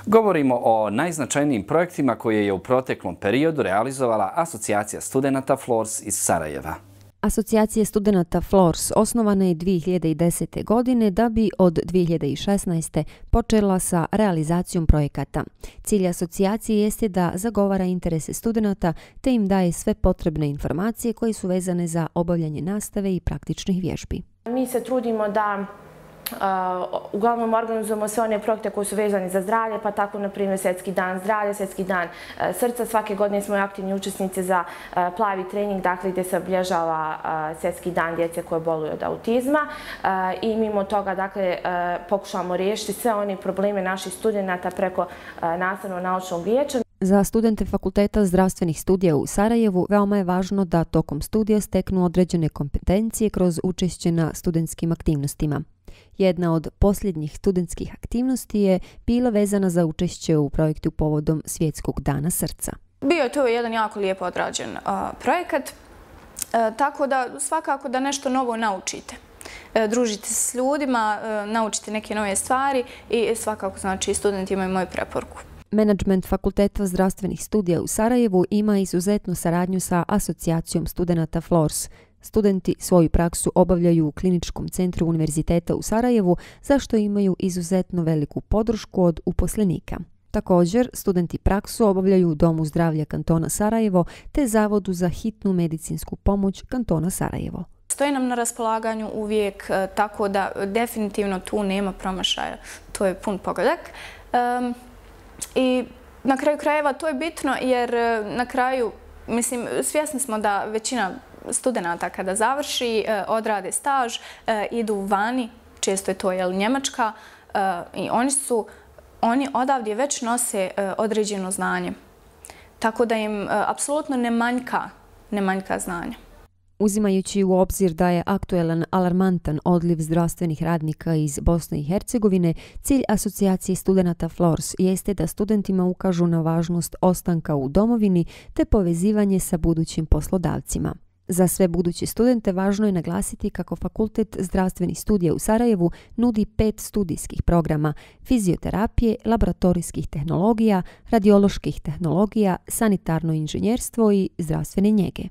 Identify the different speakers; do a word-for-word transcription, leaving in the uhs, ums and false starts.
Speaker 1: Govorimo o najznačajnijim projektima koje je u proteklom periodu realizovala Asocijacija studenata Flors iz Sarajeva.
Speaker 2: Asocijacija studenata Flors osnovana je dvije hiljade desete. godine da bi od dvije hiljade šesnaeste. počela sa realizacijom projekata. Cilj asocijacije jeste da zagovara interese studenata te im daje sve potrebne informacije koje su vezane za obavljanje nastave i praktičnih vježbi.
Speaker 3: Mi se trudimo da Uh, uglavnom organizujemo sve one projekte koji su vezani za zdravlje, pa tako na primjer Svjetski dan zdravlja, Svjetski dan uh, srca. Svake godine smo aktivni učesnici za uh, plavi trening, dakle gdje se obilježava uh, Svjetski dan djece koje boluju od autizma uh, i mimo toga dakle uh, pokušavamo riješiti sve one probleme naših studenata preko uh, nastavno-naučnog vijeća.
Speaker 2: Za studente Fakulteta zdravstvenih studija u Sarajevu veoma je važno da tokom studija steknu određene kompetencije kroz učešće na studentskim aktivnostima. Jedna od posljednjih studentskih aktivnosti je bila vezana za učešće u projektu povodom Svjetskog dana srca.
Speaker 4: Bio je to jedan jako lijepo odrađen uh, projekat, uh, tako da svakako da nešto novo naučite. Uh, družite se s ljudima, uh, naučite neke nove stvari i svakako znači studenti imaju moju preporuku.
Speaker 2: Menadžment Fakulteta zdravstvenih studija u Sarajevu ima izuzetnu saradnju sa Asocijacijom studenata Flors. Studenti svoju praksu obavljaju u Kliničkom centru Univerziteta u Sarajevu, za što imaju izuzetno veliku podršku od uposlenika. Također, studenti praksu obavljaju u Domu zdravlja kantona Sarajevo te Zavodu za hitnu medicinsku pomoć kantona Sarajevo.
Speaker 4: Stoji nam na raspolaganju uvijek, tako da definitivno tu nema promašaja. To je pun pogodak. Um, I na kraju krajeva to je bitno jer na kraju, mislim, svjesni smo da većina studenata kada završi, odrade staž, idu vani, često je to jel, Njemačka, i oni su, oni odavdje već nose određeno znanje. Tako da im apsolutno ne manjka, ne manjka znanja.
Speaker 2: Uzimajući u obzir da je aktuelan alarmantan odliv zdravstvenih radnika iz Bosne i Hercegovine, cilj Asocijacije studenata Flors jeste da studentima ukažu na važnost ostanka u domovini te povezivanje sa budućim poslodavcima. Za sve buduće studente važno je naglasiti kako Fakultet zdravstvenih studija u Sarajevu nudi pet studijskih programa: fizioterapije, laboratorijskih tehnologija, radioloških tehnologija, sanitarno inženjerstvo i zdravstvene njege.